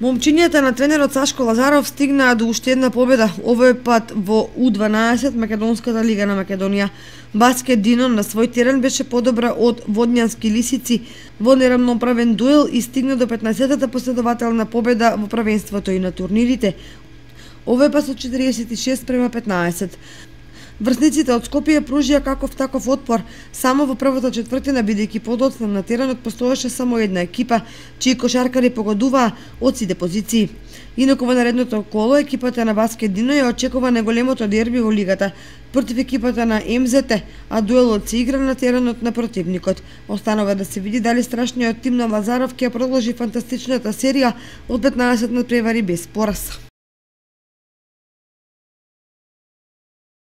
Момчињата на тренерот Сашко Лазаров стигнаа до уште една победа, овој пат во У12 Македонската лига на Македонија. Баскет Динон на свој терен беше подобра од Водњански лисици во неравноправен дуел и стигна до 15-та последователна победа во првенството и на турнирите. Овој пат со 46-15. Врсниците од Скопје пружија каков таков отпор само во првата четвртина, бидејќи подоцна на теренот постоеше само една екипа, чии кошаркари погодуваа од сите позиции. Инаку во наредното коло екипата на Баскет Дино ја очекува најголемото дерби во лигата против екипата на МЗТ, а дуелот се игра на теренот на противникот. Останува да се види дали страшниот тим на Лазаров ќе продолжи фантастичната серија од 15 надпревари без пораз.